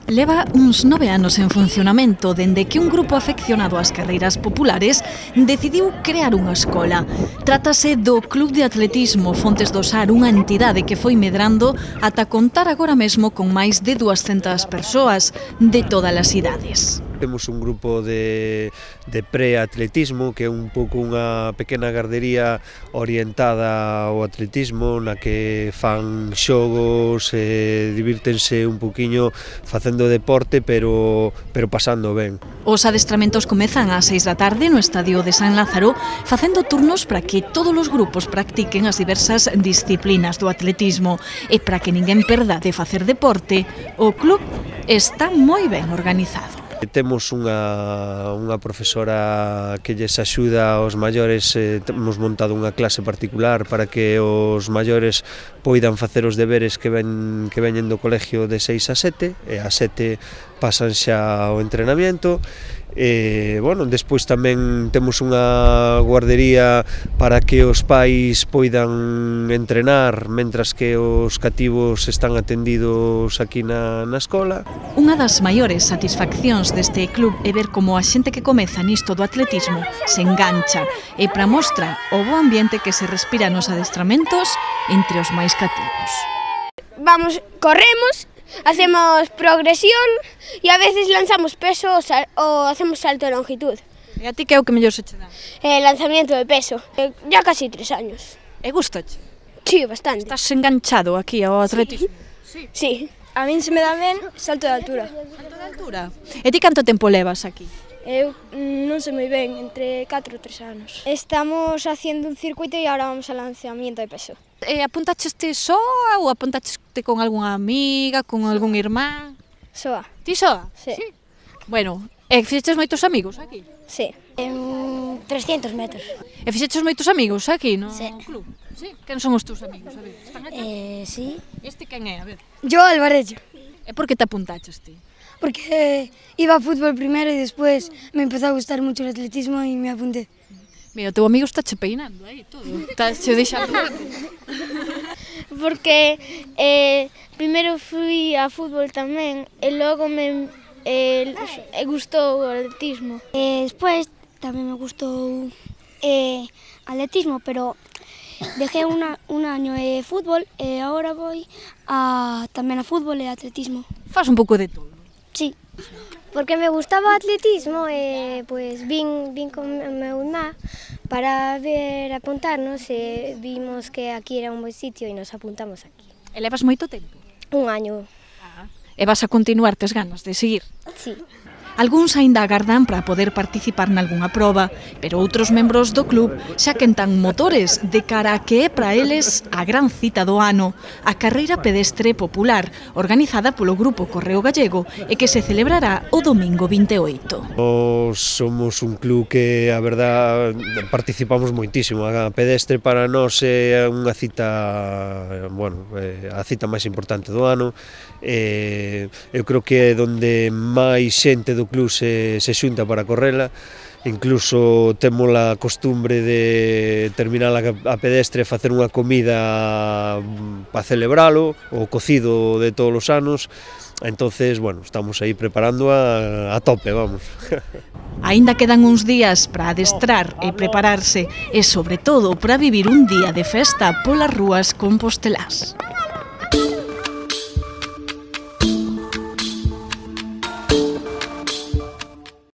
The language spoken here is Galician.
Leva uns 9 anos en funcionamento dende que un grupo afeccionado ás carreiras populares decidiu crear unha escola. Trátase do Club de Atletismo Fontes do Sar, unha entidade que foi medrando ata contar agora mesmo con máis de 200 persoas de todas as idades. Temos un grupo de pre-atletismo, que é un pouco unha pequena gardería orientada ao atletismo, na que fan xogos, divírtense un poquinho facendo deporte, pero pasando ben. Os adestramentos comezan ás 6 da tarde no estadio de San Lázaro, facendo turnos para que todos os grupos practiquen as diversas disciplinas do atletismo. E para que ninguén perda de facer deporte, o club está moi ben organizado. Temos unha profesora que lles axuda aos maiores, temos montado unha clase particular para que os maiores poidan facer os deberes que veñen do colegio de 6 a 7, e a 7 pasan xa ao entrenamiento. Despois tamén temos unha guardería para que os pais poidan entrenar mentras que os cativos están atendidos aquí na escola. Unha das maiores satisfaccións deste club é ver como a xente que comeza nisto do atletismo se engancha e para mostra o bo ambiente que se respira nos adestramentos entre os máis cativos. Vamos, corremos, hacemos progresión e a veces lanzamos peso ou hacemos salto de longitud. E a ti que é o que mellor se che dá? Lanzamiento de peso, ya casi 3 años. E gustache? Sí, bastante. Estás enganchado aquí ao atletismo? Sí. A min se me dá ben salto de altura. Salto de altura? E ti canto tempo levas aquí? Eu non sei moi ben, entre 4 ou 3 anos. Estamos haciendo un circuito e agora vamos ao lanzamiento de peso. Apuntaxeste soa ou apuntaxeste con algunha amiga, con algún irmán? Soa. Ti soa? Sí. Bueno, e fixeches moitos amigos aquí? Sí. 300 metros. E fixeches moitos amigos aquí no Sí. club? Sí. Quen son os teus amigos? A ver, están aquí? Sí. Este quen é? A ver. Yo Alvarello. E por que te apuntaches ti? Porque iba a fútbol primero y después me empezó a gustar mucho el atletismo y me apunté. Mira, o teu amigo está che peinando aí todo. Está che deixando. Porque primeiro fui a fútbol tamén e logo me gustou o atletismo. Despois tamén me gustou atletismo, pero dejé un año de fútbol e agora voy tamén a fútbol e atletismo. Faz un pouco de todo. Sí, porque me gustaba o atletismo e pues vin con meu irmá para ver apuntarnos e vimos que aquí era un bon sitio e nos apuntamos aquí. E levas moito tempo? Un año. E vas a continuar, tes ganas de seguir? Sí. Algúns aínda agardan para poder participar nalgunha proba, pero outros membros do club xa quentan motores de cara a que é para eles a gran cita do ano, a carreira pedestre popular, organizada polo Grupo Correo Gallego e que se celebrará o domingo 28. Nos somos un club que, a verdad, participamos moitísimo. A pedestre para nós é unha cita, a cita máis importante do ano. Eu creo que é onde máis xente do club se xunta para correla. Incluso temos a costumbre de terminar a pedestre e facer unha comida para celebralo, o cocido de todos os anos. Entonces, estamos aí preparando a tope, vamos. Aínda quedan uns días para adestrar e prepararse e, sobre todo, para vivir un día de festa polas rúas compostelás.